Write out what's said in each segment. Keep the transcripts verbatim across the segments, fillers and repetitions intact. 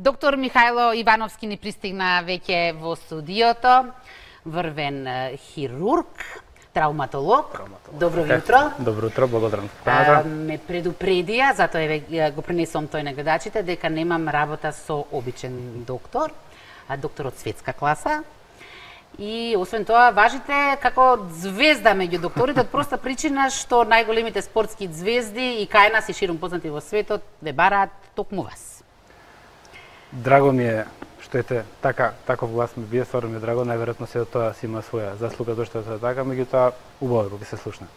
Доктор Михајло Ивановски ни пристигна веќе во студиото, врвен хирург, травматолог. Травматолог. Добро утро. Добро утро, благодарам. А, ме предупредија, затоа еве го пренесувам тој на гледачите, дека немам работа со обичен доктор, а доктор од светска класа. И освен тоа, важите како звезда меѓу докторите, од проста причина што најголемите спортски звезди и кај нас и ширум познати во светот ве бараат токму вас. Драго ми е што ете така, таков глас ми бие, стварно ми е драго, најверојатно се тоа си има своја заслуга зашто е така, меѓутоа убаво ќе се слушне.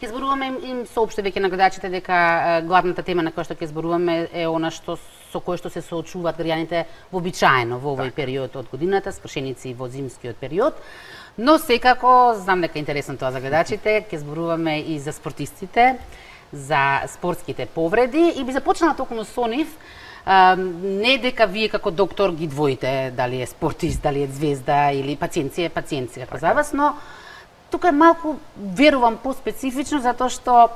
Ќе зборуваме им соопшти веќе на гледачите дека главната тема на која што ќе зборуваме е она што со кое што се соочуваат граѓаните вообичаено во овој период од годината, скршеници во зимскиот период. Но секако знам дека е интересно тоа за гледачите, ќе зборуваме и за спортистите, за спортските повреди и би започнала токму со нив. Uh, не дека вие како доктор ги двоите дали е спортист, дали е звезда или пациент си е пациент си, како за вас, но тука е малку, верувам, по-специфично, затоа што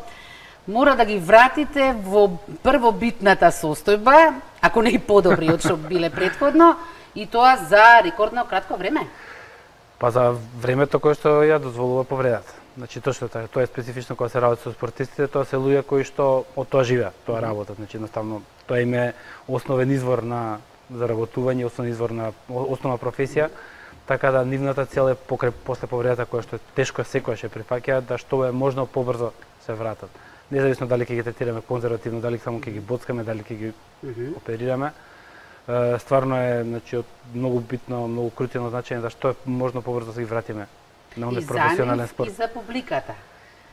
мора да ги вратите во првобитната состојба, ако не и подобри од што биле претходно, и тоа за рекордно кратко време. Па за времето кое што ја дозволува повредата. Значи точно така, тоа е специфично кога се работи со спортистите, тоа се луѓе кои што од тоа живеат, тоа работат, значи едноставно тоа им е основен извор на заработување, основен извор на основна професија, така да нивната цел е покрај после повредата која што е тешко секогаш е прифаќаат да што е можно побрзо се вратат. Независно дали ќе ги третираме конзервативно, дали само ќе ги боцкаме, дали ќе ги mm -hmm. оперираме. Стварно е, значи, од многу битно, многу крутено значење да што е можно побрзо да се ги вратиме на оној професионален спорт. И за публиката.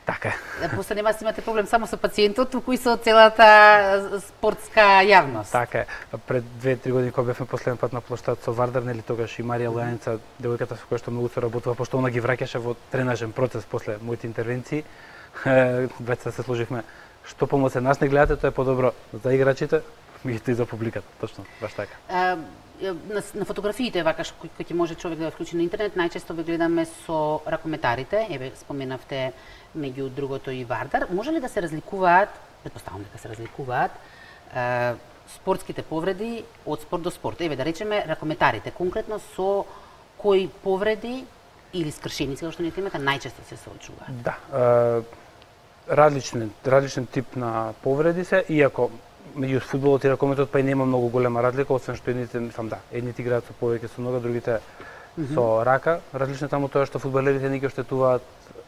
Така е. После нема да имате проблем само со пациентот, туку и со целата спортска јавност. Така е. Пред две-три години кога бевме последен пат на плоштад со Вардар, нели тогаш и Марија Лојаница, девојката со која што многу се работува, пошто она ги враќаше во тренажен процес после моите интервенции, двајца се сложивме што помоце нас не гледате, тоа е подобро за играчите, меѓутоа и за публиката, точно, баш така. А, на, на фотографиите вакаш кои, кои ќе може човек да ја вклучи на интернет, најчесто ве гледаме со ракометарите, еве споменавте меѓу другото и Вардар. Може ли да се разликуваат, претпоставувам дека се разликуваат, е, спортските повреди од спорт до спорт? Еве да речеме ракометарите, конкретно со кои повреди или скршеници, како што не темата, најчесто се соочуваат? Да, е, различен, различен тип на повреди се, иако меѓу фудбалот и ракометот па и нема многу голема разлика, освен што едните, мислам да, едните играат со повеќе со нога, другите mm -hmm. со рака. Различно таму тоа што фудбалерите не ги оштетуваат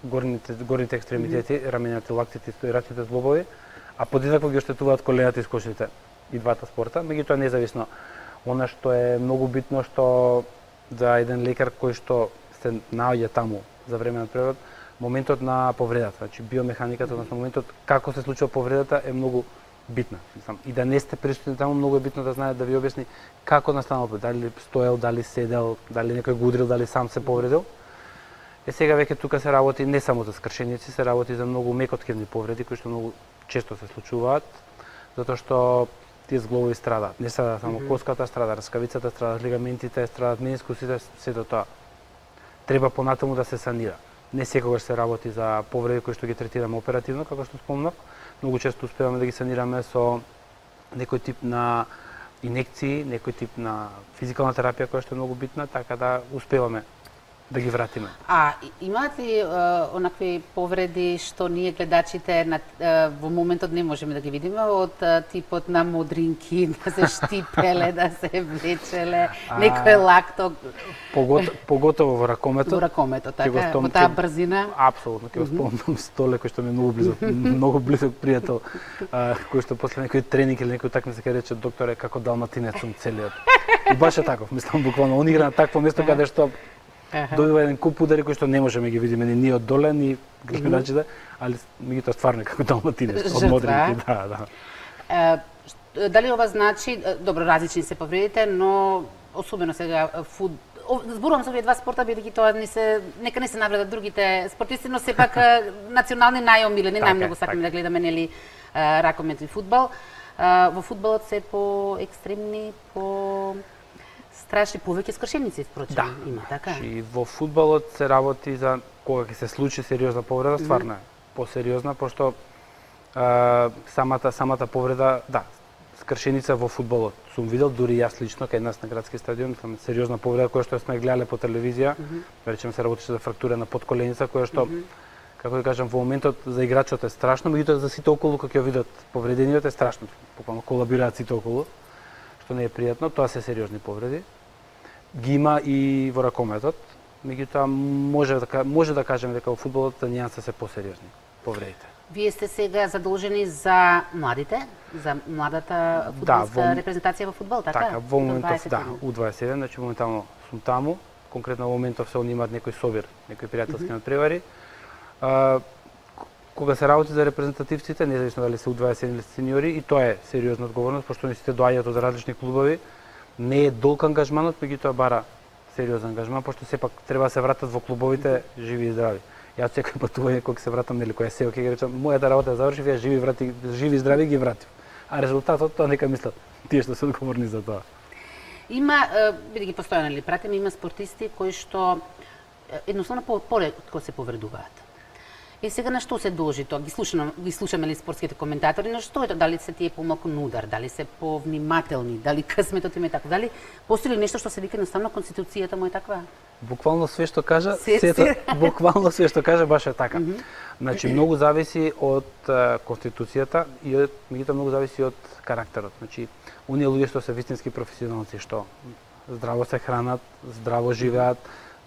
горните горните екстремитети, mm -hmm. рамената, лактите и рачните зглобови, а подеднакво ги оштетуваат колената и скошите и двата спорта. Меѓутоа независно, она што е многу битно што за еден лекар кој што се наоѓа таму за време на превод, моментот на повредата, значи биомеханиката, односно моментот како се случува повредата е многу битна. И да не сте присутни таму, многу е битно да знаат да ви објасни како настанал, дали стоел, дали седел, дали некој го удрил, дали сам се повредил. Е сега веќе тука се работи не само за скршеници, се работи за многу мекоткивни повреди кои што многу често се случуваат, затоа што тие зглобови страдаат. Не страда само mm -hmm. коската, страда раскавицата, страдат лигаментите, страдат менискусите, сето тоа. Треба понатаму да се санира. Не секогаш се работи за повреди кои што ги третираме оперативно, како што спомнав. Многу често успеваме да ги санираме со некој тип на инекции, некој тип на физикална терапија која што е многу битна, така да успеваме да ги вратиме. А имаат ли е, онакви повреди што ние гледачите на, е, во моментот не можеме да ги видиме, од е, типот на модринки, да се штипеле, да се влечеле, некој лакток? Погото, поготово во ракометот. Во ракометот, така, во таа брзина? Апсолутно, ќе го спомнам Столе, кој што ми е многу близок, многу близок пријател, а, кој што после некој тренинг или некој такмица ќе рече, докторе, како далматинец сум целиот. И баш е таков, мислам, буквално, он игра на такво место каде што добива еден куп удари кои што не можеме ги видиме ни ние од доле, ни гледачите, али меѓутоа стварно како далматинец, од модринки, да, да. Е, дали ова значи, добро, различни се повредите, но особено сега фуд зборувам за овие два спорта бидејќи тоа не се нека не се навредат другите спортисти, но сепак национални најомилени, најмногу сакаме да гледаме нели ракомет и фудбал. Во фудбалот се по екстремни, по страшни, повеќе скршеници впрочем да. Има, така? И во фудбалот се работи за кога ќе се случи сериозна повреда, стварно е посериозна, пошто а, самата самата повреда, да, скршеница во фудбалот. Сум видел дури јас лично кај нас на градски стадион, мислам сериозна повреда која што сме гледале по телевизија, mm -hmm. речеме се работеше за фрактура на подколеница која што mm -hmm. како да кажам, во моментот за играчот е страшно, меѓутоа за сите околу кога ќе видат повредениот е страшно. Буквално колабираат сите околу, што не е пријатно, тоа се сериозни повреди. Ги има и во ракометот, меѓутоа може да може да кажеме дека во фудбалот нијанса се посериозни повредите. Вие сте сега задолжени за младите, за младата фудбалска да, во... репрезентација во фудбал, така? Така, во моментов да, У дваесет и седум, значи моментално сум таму, конкретно во моментов се они имаат некој собир, некои пријателски надпревари. А, кога се работи за репрезентативците, независно дали се У дваесет и седум или сениори, и тоа е сериозна одговорност, пошто не сите доаѓаат од различни клубови, не е долг ангажманот, меѓутоа бара сериозен ангажман, пошто сепак треба да се вратат во клубовите живи и здрави. Јас секој патување кога се вратам, нели, која се, ќе речам, мојата работа ја завршив, ја живи врати, живи и здрави ги вратив. А резултатот тоа нека мислат тие што се одговорни за тоа. Има, бидејќи постојано ли пратиме, има спортисти кои што едноставно поретко се повредуваат. И сега на што се должи тоа? Ги слушаме, ги слушаме ли спортските коментатори, на што е тоа? Дали се тие помалку на удар, дали се повнимателни, дали късметот им е така, дали постои ли нешто што се вика едноставно конституцијата му е таква? Буквално све што кажа, сето, буквално све што кажа баш е така. Mm -hmm. Значи многу зависи од uh, конституцијата и од меѓутоа многу зависи од карактерот. Значи оние луѓе што се вистински професионалци, што здраво се хранат, здраво живеат,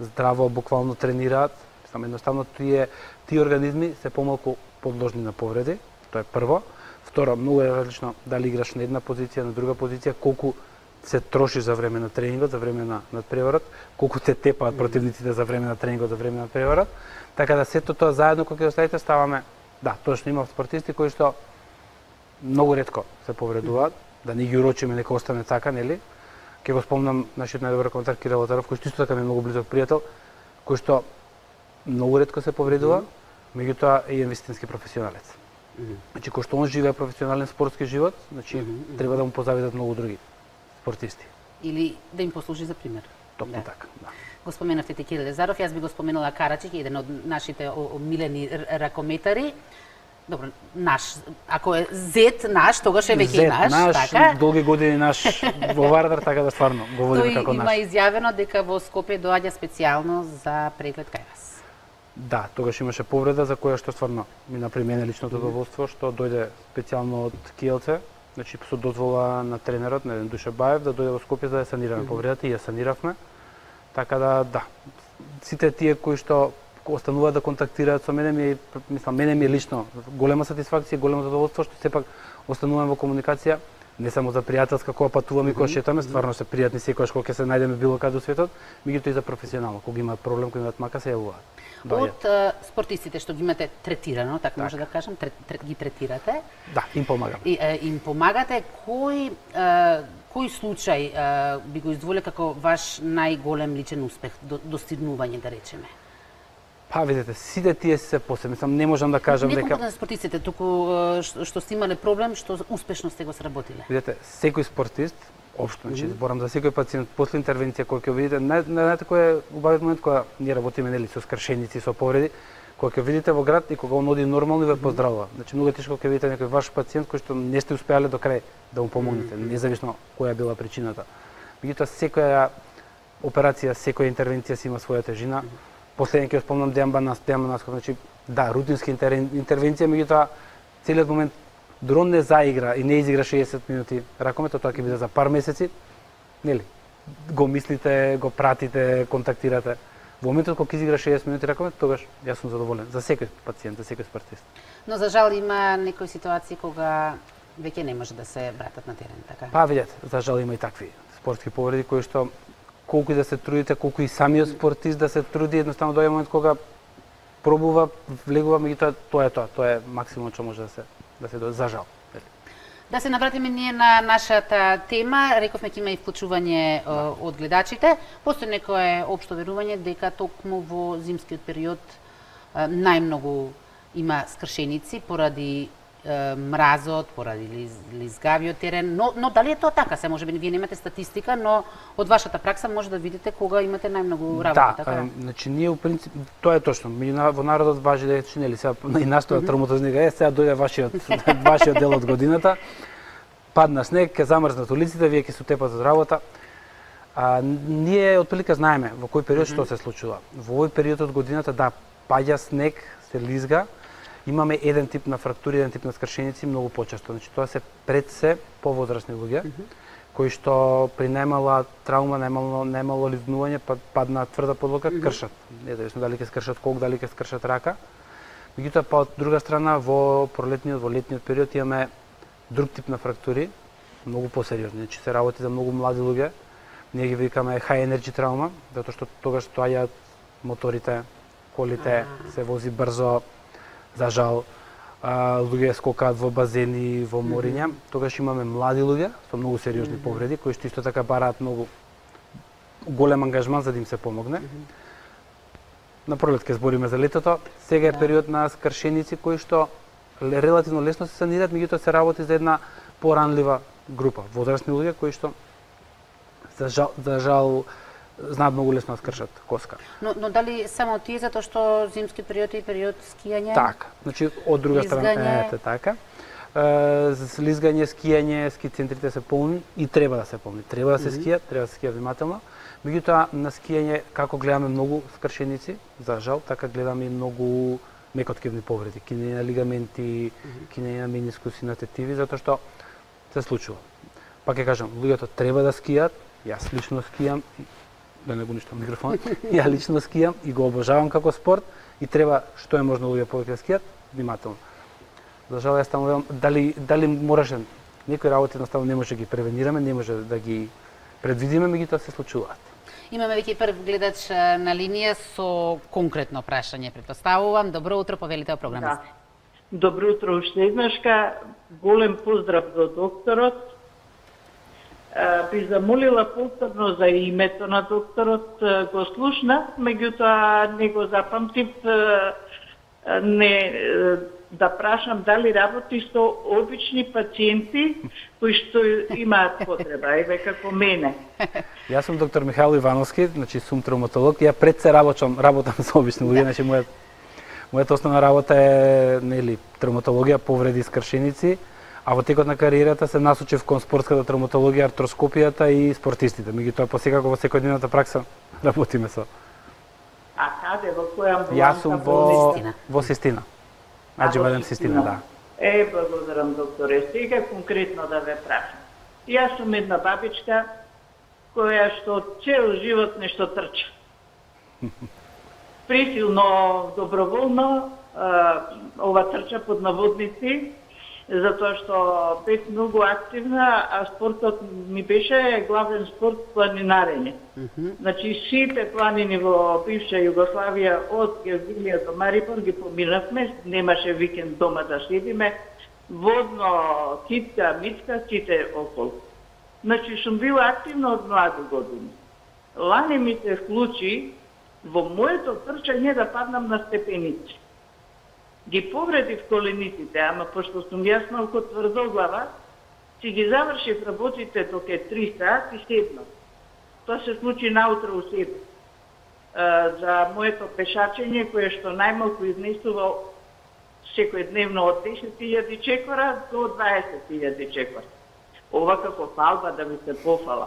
здраво буквално тренираат, само едноставно тие тие организми се помалку подложни на повреди, тоа е прво. Второ, многу е различно дали играш на една позиција, на друга позиција, колку се троши за време на тренингот, за време на надпреварот, колку те тепаат противниците за време на тренингот, за време на надпреварот. Така да сето тоа заедно кога ќе оставите ставаме, да, точно има спортисти кои што многу ретко се повредуваат, да не ги урочиме нека остане така, нели? Ќе го спомнам нашиот најдобар коментар Кирил Лотаров, кој што исто така ми е многу близок пријател, кој што многу ретко се повредува, меѓутоа е вистински професионалец. Mm -hmm. Значи, кој што он живее професионален спортски живот, значи, mm -hmm. треба да му позавидат многу други спортисти. Или да им послужи за пример. Токму да. Така, да. Го споменавте те Кирил Лезаров, јас би го споменала Карачик, еден од нашите омилени ракометари. Добро, наш, ако е зет наш, тогаш е веќе наш, наш, така? Долги години наш во Вардар, така да стварно го водиме како наш. Тој има изјавено дека во Скопје доаѓа специјално за преглед кај вас. Да, тогаш имаше повреда за која што стварно ми направи мене личното задоволство, што дојде специјално од Киелце, значи со дозвола на тренерот, на Душе Баев, да дојде во Скопје за да санираме mm -hmm. повредата и ја саниравме. Така да, да, сите тие кои што остануваат да контактираат со мене, ми, мислам, мене ми е лично голема сатисфакција, големо задоволство што сепак остануваме во комуникација, не само за пријателска кога патуваме и кога шетаме, стварно се пријатни секогаш кога ќе се најдеме било каде во светот, меѓутоа и за професионално, кога имаат проблем, кога имаат мака, се јавуваат. Од uh, спортистите што ги имате третирано, така, така. може да кажам, трет, трет, ги третирате. Да, им помагаме. И, uh, им помагате. Кој uh, кој случај uh, би го издвоил како ваш најголем личен успех, до, достигнување, да речеме? Па, видите, сите тие се посебни, мислам, не можам да кажам не дека... Не конкретно спортистите, туку uh, што сте имале проблем, што успешно сте го сработиле. Видите, секој спортист, општо, значи, зборам за секој пациент, после интервенција која ќе видите, знаете кој е убавиот момент кога ние работиме нели со скршеници, со повреди, кога ќе видите во град и кога он оди нормално и ве поздравува. Значи многу тешко ќе видите некој ваш пациент кој што не сте успеале до крај да му помогнете, независно која била причината. Меѓутоа секоја операција, секоја интервенција си има своја тежина. Последен ќе спомнам Дејан Банас, Дејан Банасков, значи да, рутинска интервенција, меѓутоа целиот момент дрон не заигра и не изигра шеесет минути ракометот, тоа ќе биде за пар месеци, нели? Го мислите, го пратите, контактирате. Во моментот кога изигра шеесет минути ракомет, тогаш јас сум задоволен за секој пациент, за секој спортист. Но за жал има некои ситуации кога веќе не може да се вратат на терен, така? Па видете, за жал има и такви спортски повреди кои што колку и да се трудите, колку и самиот спортист да се труди, едноставно доаѓа момент кога пробува, влегува, меѓутоа тоа е тоа, тоа е максимум што може да се да се за жал. Да се навратиме ние на нашата тема, рековме ќе има и вклучување да. од гледачите. Постои некое општо верување дека токму во зимскиот период најмногу има скршеници поради мразот, поради лизгавиот терен, но, но дали е тоа така? Се можеби вие немате статистика, но од вашата пракса може да видите кога имате најмногу работа, да, така? Да, значи ние у принцип тоа е точно. Во народот важи дека нели сега и настоја травматолознига е сега дојде вашиот вашиот дел од годината. падна снег, ќе замрзнат улиците, вие ќе се утепат од работа. А, ние отприлика знаеме во кој период што се случува. Во овој период од годината, да, паѓа снег, се лизга, имаме еден тип на фрактури, еден тип на скршеници многу почесто. Значи тоа се пред се повозрасни луѓе, mm -hmm. кои што при најмала траума, најмало најмало лизнување, падна тврда подлога, mm -hmm. кршат. Независно дали ќе скршат кок, дали ќе скршат рака. Меѓутоа, па од друга страна, во пролетниот, во летниот период имаме друг тип на фрактури, многу посериозни. Значи се работи за многу млади луѓе. Ние ги викаме high energy травма, затоа што тогаш стоаѓаат моторите, колите, се вози брзо, за жал, а, луѓе скокаат во базени, во мориња. Тогаш имаме млади луѓе со многу сериозни повреди, кои што исто така бараат многу голем ангажман за да им се помогне. На пролет ќе збориме за летото. Сега е период на скршеници кои што релативно лесно се санираат, меѓутоа се работи за една поранлива група, возрастни луѓе кои што за жал, за жал знаат многу лесно да скршат коска. Но, но дали само тие затоа што зимски период и период скијање? Така, значи од друга страна ете така. За лизгање, скијање, ски центрите се полни и треба да се полни. Треба да се скија, треба да се скија внимателно. Меѓутоа на скијање како гледаме многу скршеници, за жал, така гледаме и многу мекоткивни повреди, кинење на лигаменти, кинење на менискуси, на тетиви, затоа што се случува. Пак ќе кажам, луѓето треба да скијат, јас лично скијам, да не го уништам микрофон, ја лично скијам и го обожавам како спорт и треба што е можно луѓе повеќе да скијат, внимателно. За жал, јас таму дали дали мораше некои работи едноставно не може да ги превенираме, не може да ги предвидиме, меѓутоа се случуваат. Имаме веќе прв гледач на линија со конкретно прашање, претпоставувам. Добро утро, повелите о програма. Да. Добро утро уште еднашка. Голем поздрав до докторот. Би замолила повторно за името на докторот, го слушнав, меѓутоа не го запамтив, не да прашам дали работи со обични пациенти кои што имаат потреба, еве како мене. Јас сум доктор Михаил Ивановски, значи сум травматолог. Ја пред се работам, работам со обични луѓе, значи мојата мојата основна работа е нели травматологија, повреди, скршеници, а во текот на кариерата се насочив кон спортската травматологија, артроскопијата и спортистите. Меѓутоа посекако во секојдневната пракса работиме со. А каде, во која амбуланта? Јас сум во во Систина. Аџи Бадем Систина, да. Е, благодарам, докторе. Сега конкретно да ве прашам. Јас сум една бабичка која што цел живот нешто трча. Присилно, доброволно, ова трча под наводници, затоа што бев многу активна, а спортот ми беше главен спорт планинарење. Mm -hmm. Значи сите планини во бивша Југославија од Гевгилија до Марибор ги поминавме, немаше викенд дома да седиме, водно, китка, мицка, сите околу. Значи сум била активна од млади години. Лани ми се случи во моето трчање да паднам на степеници. Ги повредив колениците, ама пошто сум јас малку тврдоглава, си ги завршив работите док е три сат и седнав. Тоа се случи наутро у седем. За моето пешачење, кое што најмалку изнесува секојдневно од десет илјади чекора до дваесет илјади чекора. Ова како фалба да ми се пофала.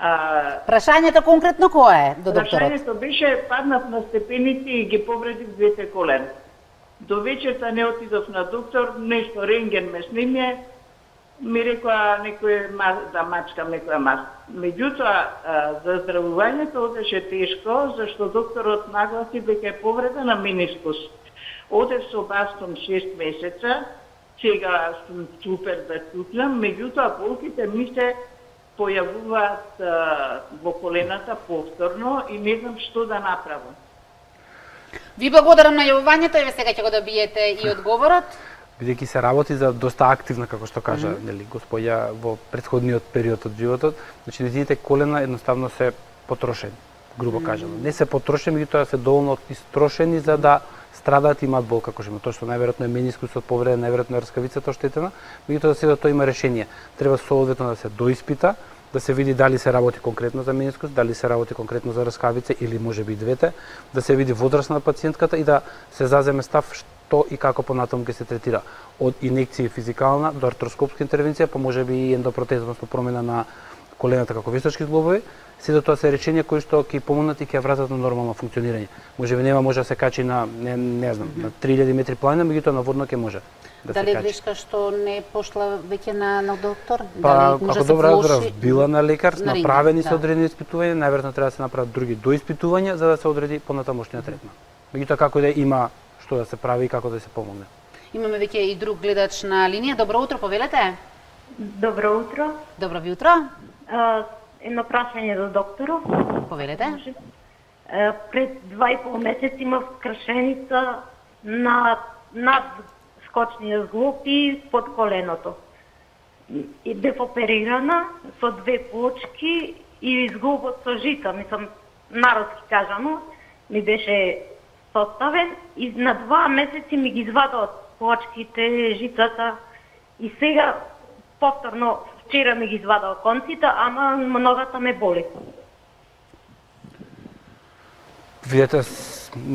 А, Прашањето конкретно кое е до докторот? Прашањето беше паднав на степеници и ги повредив двете колена. До вечерта не отидов на доктор, нешто рентген ме снимје, ми рекоа некој да мачкам некоја мас. Меѓутоа, за здравувањето одеше тешко, зашто докторот нагласи дека е повреда на менискус. Одев со бастон шест месеца, сега сум супер да чутлам, меѓутоа болките ми се појавуваат во колената повторно и не знам што да направам. Ви благодарам на јавувањето, еве сега ќе го добиете и одговорот. Бидејќи се работи за доста активна, како што кажа, mm -hmm. нели, господја во претходниот период од животот, значи нејзините колена едноставно се потрошени, грубо кажано. Mm -hmm. Не се потрошени, меѓутоа се доволно истрошени за да страдаат и имаат бол, како што има. Тоа што најверојатно е менискусот повреден, најверојатно е рскавицата оштетена, меѓутоа за сега тоа има решение. Треба соодветно да се доиспита, да се види дали се работи конкретно за менискус, дали се работи конкретно за раскавице или можеби и двете, да се види возраст на пациентката и да се заземе став што и како понатаму ќе се третира. Од инекција физикална до артроскопска интервенција, па можеби и ендопротеза, односно промена на колената како вештачки зглобови, сите тоа се речења кои што ќе помогнат и ќе вратат на нормално функционирање. Можеби нема може да се качи на не, не знам, на три илјади метри планина, меѓутоа на водно ќе може. Да Дали е грешка што не пошла веќе на, на доктор? Па, Дали може ако да добро влоши... разбрав, била на лекар, на направени се да. одредени испитувања, најверојатно треба да се направат други доиспитувања за да се одреди понатамошниот третман. Меѓутоа како да има што да се прави и како да се помогне. Имаме веќе и друг гледач на линија. Добро утро, повелете. Добро утро. Добро ви утро. А, едно прашање за докторот. Повелете. А, пред два и пол месец имав кршеница на над скочниот зглоб и под коленото. И бев оперирана со две плочки и зглобот со жица, мислам, народски кажано, ми беше составен и на два месеци ми ги извадат плочките, жицата и сега повторно вчера ми ги извадал конците, ама ногата ме боли. Видете,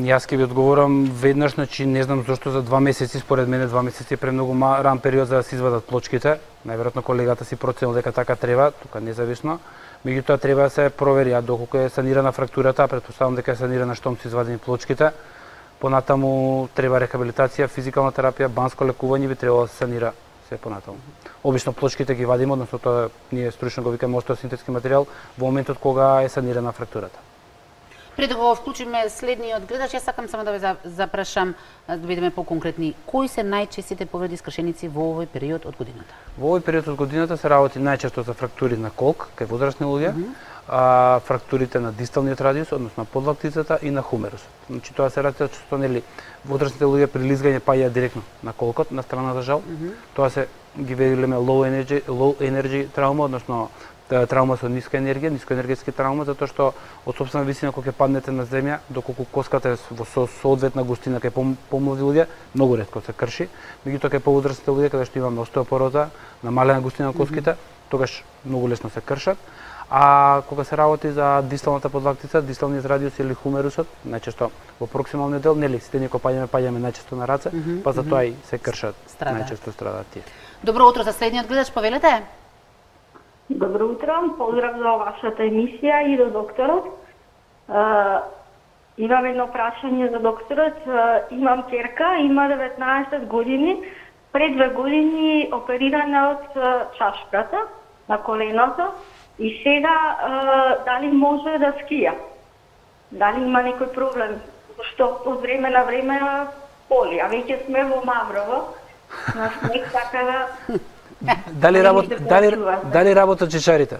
јас ќе ви одговорам веднаш, значи не знам зошто за два месеци, според мене два месеци е премногу ран период за да се извадат плочките. Најверојатно колегата си проценил дека така треба, тука независно. Меѓутоа треба да се провери, а доколку е санирана фрактурата, претпоставам дека е санирана штом се извадени плочките. Понатаму треба рехабилитација, физикална терапија, банско лекување би требало да се санира се понатаму. Обично плочките ги вадиме, односно тоа ние стручно го викаме остеосинтетски материјал во моментот кога е санирана фрактурата. Пред да го вклучиме следниот гледач, јас сакам само да ве запрашам да бидеме поконкретни. Кои се најчестите повреди скршеници во овој период од годината? Во овој период од годината се работи најчесто за фрактури на колк, кај возрастни луѓе, mm -hmm. а, фрактурите на дисталниот радиус, односно на подлактицата и на хумерусот. Значи тоа се работи што нели возрастните луѓе при лизгање паѓаат директно на колкот, на страната жал. Mm -hmm. Тоа се ги велиме low energy, low energy травма, односно травма со ниска енергија, нискоенергетски травма, затоа што од сопствена висина кога ќе паднете на земја, доколку коската е во со соодветна густина кај помлади луѓе, многу ретко се крши, меѓутоа кај повозрастните луѓе каде што имаме остеопороза, намалена густина на коските, mm -hmm. тогаш многу лесно се кршат. А кога се работи за дисталната подлактица, дисталниот радиус или хумерусот, најчесто во проксималниот дел, нели сите ние кога паѓаме, паѓаме најчесто на раце, mm -hmm. па затоа и се кршат, Страда. најчесто страдаат тие. Добро утро за следниот гледач, повелете. Добро утро, поздрав за вашата емисија и до докторот. Uh, имам едно прашање за докторот. Uh, имам ќерка, има деветнаесет години, пред две години оперирана од uh, чашката на коленото и сега uh, дали може да скија? Дали има некој проблем? Што од време на време боли, а веќе сме во Маврово, на снег, така да... Дали работа дали дали работат чешарите?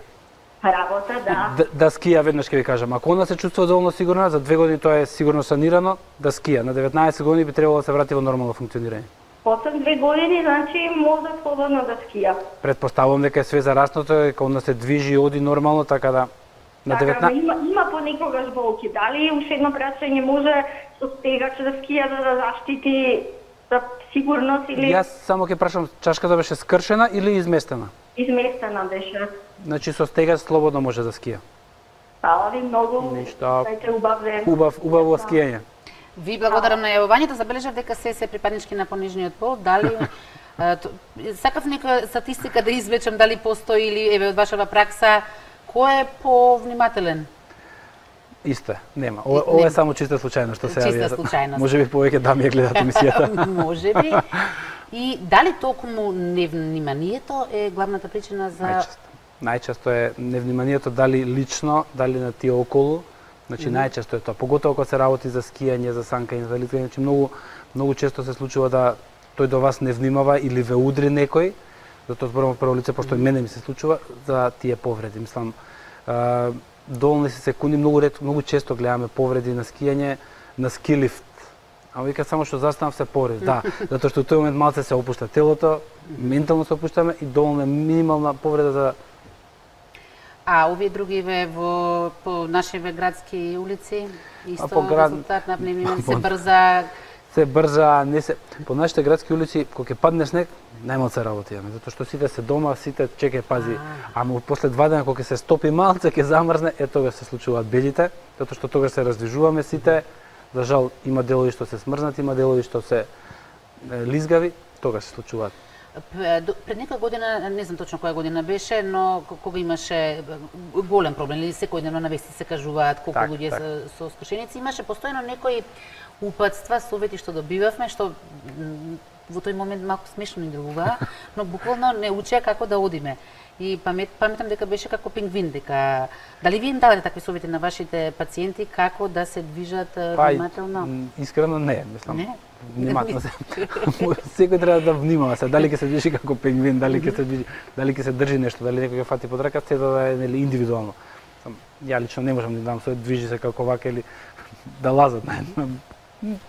Работа, да. Да, да скија, веднаш ќе ви кажам. Ако она се чувствува доволно сигурна, за две години тоа е сигурно санирано, да скија. На деветнаесет години би требало да се врати во нормално функционирање. После две години, значи, може слободно да скија. Предпоставувам дека е све зараснато, дека она се движи и оди нормално, така да на деветнаесет... Така, има, има понекогаш болки. Дали уште едно прашање може со стегач да скија за да заштити за сигурност или... Јас само ќе прашам, чашката беше скршена или изместена? Изместена беше. Значи со стегач слободно може да скија. Фала ви многу. Ништо. Дајте убав ден. Убав, убаво скијање. Ви благодарам на јавувањето, забележав дека се се припаднички на понижниот пол. Дали сакав нека статистика да извлечам дали постои или еве од вашава пракса кој е повнимателен? Исто е, нема. Ова, ова е само чиста случајност што се јави. Чиста случајност. Може би повеќе дами ја гледаат емисијата. Може би. И дали токму невниманието е главната причина за... Најчесто. Најчесто е невниманието дали лично, дали на тие околу. Значи mm -hmm. најчесто е тоа. Поготово кога се работи за скијање, за санкање, за лизгање, значи многу многу често се случува да тој до вас не внимава или ве удри некој. Затоа зборувам прво лице, пошто и мене ми се случува за тие повреди. Мислам, а, доволни се секунди, многу ред, многу често гледаме повреди на скијање, на скилифт. А вика само што застанав се порез, да, затоа што во тој момент малце се опушта телото, ментално се опуштаме и доволно минимална повреда за... А овие другиве во по нашиве градски улици исто по град... резултат на пневмија се брза се брза, не се по нашите градски улици кога ќе падне снег, најмалку работи имаме, затоа што сите се дома, сите чекај пази. Ама после два дена кога ќе се стопи малце, ќе замрзне, е тогаш се случуваат белите, затоа што тогаш се раздвижуваме сите. За жал има делови што се смрзнати, има делови што се лизгави, тогаш се случуваат. Пред некоја година, не знам точно која година беше, но кога имаше голем проблем, или секојдневно на вести се кажуваат колку так, луѓе так. се со скршеници, имаше постојано некои упатства, совети што добивавме, што во тој момент малку смешно ни делува, но буквално не учеа како да одиме. И памет, паметам дека беше како пингвин, дека дали ви им давате такви совети на вашите пациенти како да се движат внимателно? Па, искрено не, мислам. Не? Внимателно се. Секој треба да внимава се, дали ќе се движи како пингвин, дали ќе се движи, дали ќе се држи нешто, дали некој ќе фати под рака, се да е нели индивидуално. Сам, ја лично не можам да дам совет, движи се како вака или да лазат.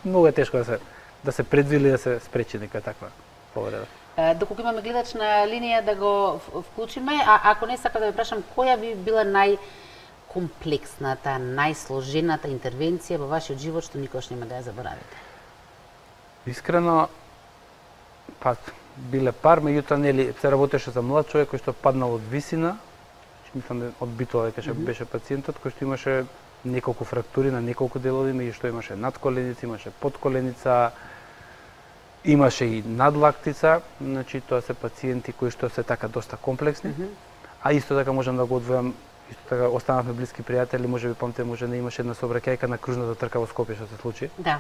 Многу е тешко да се да се предвиди да се спречи нека таква повреда. Доколку имаме гледач на линија да го вклучиме, а ако не сака да ве прашам која би била најкомплексната, најсложената интервенција во вашиот живот што никош нема да ја заборавите? Искрено, па биле пар, меѓутоа нели се работеше за млад човек кој што паднал од висина, мислам од битола дека mm -hmm. беше пациентот кој што имаше неколку фрактури на неколку делови, меѓу што имаше надколеница, имаше подколеница, имаше и надлактица, значи тоа се пациенти кои што се така доста комплексни. Mm -hmm. А исто така можам да го одвојам, исто така останавме блиски пријатели, можеби памте може не имаше една сообраќајка на кружната трка во Скопје што се случи. Да.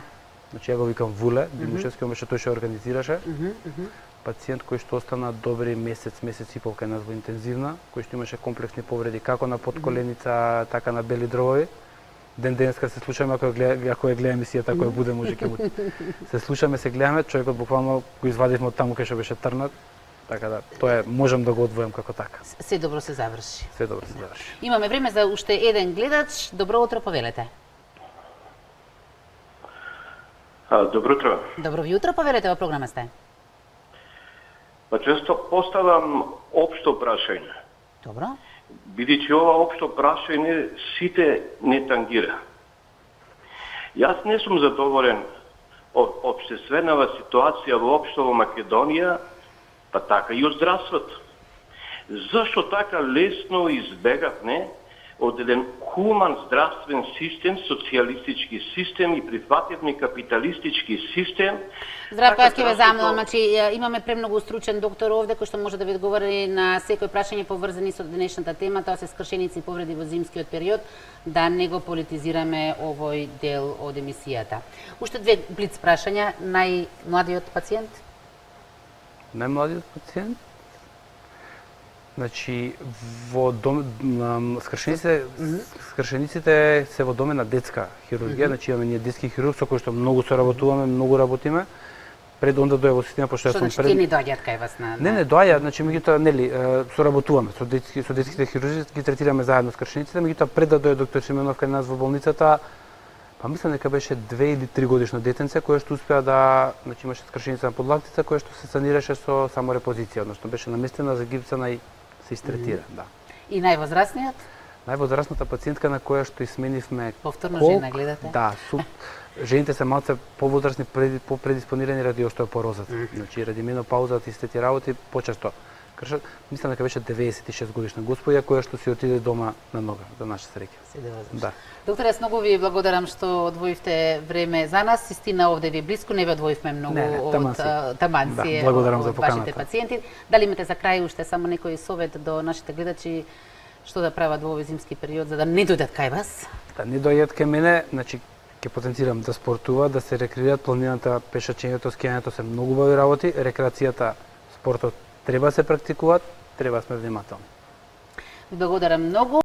Значи ја го викам Вуле, Димушевски, mm -hmm. беше тој што организираше. Mm -hmm. Пациент кој што остана добри месец, месец и пол кај нас во интензивна, кој што имаше комплексни повреди како на подколеница, mm -hmm. така на бели дробови. Ден денеска се слушаме, ако гледа, ако ја гледа емисијата, која буде може ќе му се слушаме, се гледаме, човекот буквално го извадивме од таму кај што беше трнат. Така да, тоа е, можам да го одвојам како така. Се добро се заврши. Се добро се заврши. Имаме време за уште еден гледач. Добро утро, повелете. А, добро утро. Добро ви утро, повелете, во програма сте. Па често поставам општо прашање. Добро. Бидејќи ова општо прашање сите не тангира. Јас не сум задоволен од општественава ситуација воопшто во Македонија, па така и од здравството. Зашто така лесно избегавме од еден хуман здравствен систем, социјалистички систем и прифативни капиталистички систем. Здравко, јас ќе ве замолам, значи имаме премногу стручен доктор овде кој што може да ви одговори на секој прашање поврзани со денешната тема, тоа се скршеници и повреди во зимскиот период, да не го политизираме овој дел од емисијата. Уште две блиц прашања, најмладиот пациент? Најмладиот пациент? Значи, во дом, на скршениците, mm -hmm. скршениците се во домен на детска хирургија, mm -hmm. значи имаме ние детски хирург со кој што многу соработуваме, многу работиме. Пред онда дојде во система, пошто јас сум пред... Што значи, не доаѓаат кај вас на... Не, не доаѓаат, значи, меѓутоа, нели, соработуваме со, детски, со детските хирурзи, ги третираме заедно скршениците, меѓутоа пред да дојде доктор Сименов кај нас во болницата, па мислам дека беше две или три годишно детенце кој што успеа да, значи имаше скршеница на подлактица која што се санираше со само репозиција, односно беше наместена, загипсана и се истретира, mm -hmm. да. И највозрастниот? Највозрастната пациентка на која што изменивме повторно колк, жена гледате? Да, су, жените се малце повозрастни, попредиспонирани ради остеопорозата. Mm -hmm. Значи ради менопаузата и сите тие работи почесто кршат. Мислам дека беше деветдесет и шест годишна господја која што си отиде дома на нога, за наша среќа. Да. Доктор, јас многу ви благодарам што одвоивте време за нас. Истина овде ви е блиску, не ви одвоивме многу не, не, од таманци да, од, од вашите пациенти. Дали имате за крај уште само некој совет до нашите гледачи што да прават во овој зимски период за да не дојдат кај вас? Да не дојдат кај мене, значи ќе потенцирам да спортуваат, да се рекреираат, планината, пешачењето, скијањето се многу убави работи, рекреацијата, спортот треба да се практикуваат, треба да сме внимателни. Ви благодарам многу.